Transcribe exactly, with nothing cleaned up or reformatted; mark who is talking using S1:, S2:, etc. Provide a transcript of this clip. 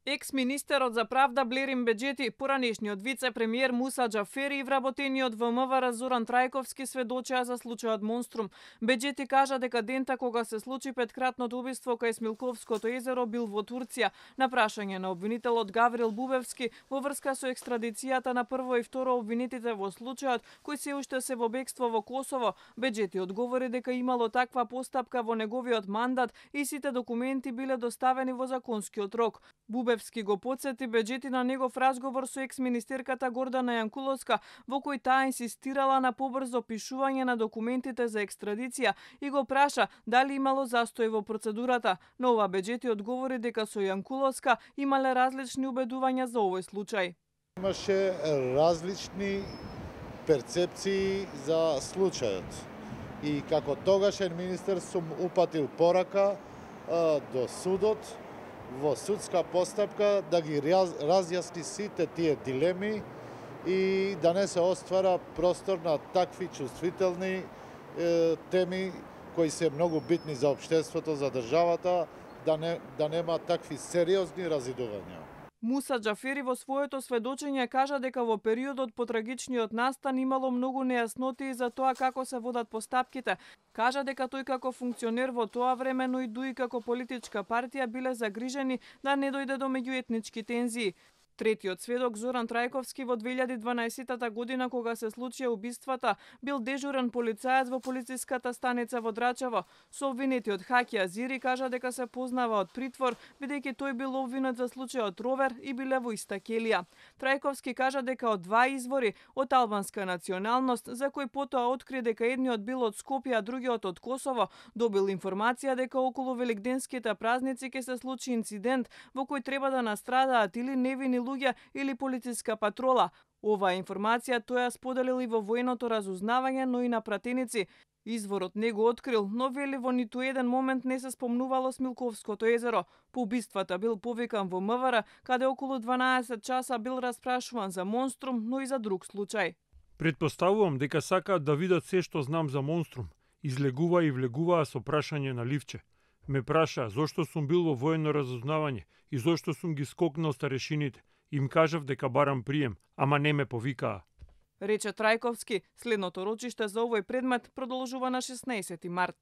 S1: Екс-министерот за правда Блерин Беџети, поранешниот вице-премиер Муса Џафери и вработениот Вэ М В Р Зоран Трајковски сведочеа за случајот Монструм. Беџети кажа дека дента кога се случи петкратното убиство кај Смилковското езеро бил во Турција. На прашање на обвинителот Гаврил Бубевски во врска со екстрадицијата на прво и второ обвинетите во случајот, кои се уште се во бегство во Косово, Беџети одговори дека имало таква постапка во неговиот мандат и сите документи биле доставени во законскиот рок. Бубевски го потсети Беџети на негов разговор со екс-министерката Гордана Јанкуловска, во кој таа инсистирала на побрзо пишување на документите за екстрадиција и го праша дали имало застој во процедурата. Но ова Беџети одговори дека со Јанкуловска имале различни убедувања за овој случај.
S2: Имаше различни перцепции за случајот. И како тогашен министер сум упатил порака а, до судот во судска постапка да ги разјасни сите тие дилеми и да не се оствара простор на такви чувствителни е, теми кои се многу битни за општеството, за државата, да не да нема такви сериозни разидувања.
S1: Муса Џафери во своето сведочење кажа дека во периодот по трагичниот настан имало многу нејаснотии за тоа како се водат постапките. Кажа дека тој како функционер во тоа време, но и дуи како политичка партија биле загрижени да не дојде до меѓуетнички тензии. Третиот сведок Зоран Трајковски во две илјади и дванаесетта година кога се случија убиствата бил дежурен полицаец во полициската станица во Драчево. Со обвинетиот Хаки Азири кажа дека се познава од притвор бидејќи тој бил обвинет за случајот Ровер и биле во иста келија. Трајковски кажа дека од два извори од албанска националност, за кој потоа откри дека едниот бил од Скопје, а другиот од Косово, добил информација дека околу великденските празници ќе се случи инцидент во кој треба да настрадаат или невини луѓе или полициска патрола. Оваа информација тој ја споделил и во военото разузнавање, но и на пратеници. Изворот не го открил, но вели во ниту еден момент не се спомнувало Смилковското езеро. По убиствата бил повикан во М В Р, каде околу дванаесет часа бил распрашуван за Монструм, но и за друг случај.
S3: Предпоставувам дека сакаат да видат се што знам за Монструм. Излегува и влегуваа со прашање на ливче. Ме праша зошто сум бил во воено разузнавање и зошто сум ги скокнал старешините. Им кажав дека барам прием, ама не ме повикаа.
S1: Рече Трајковски, следното рочиште за овој предмет продолжува на шеснаесети март.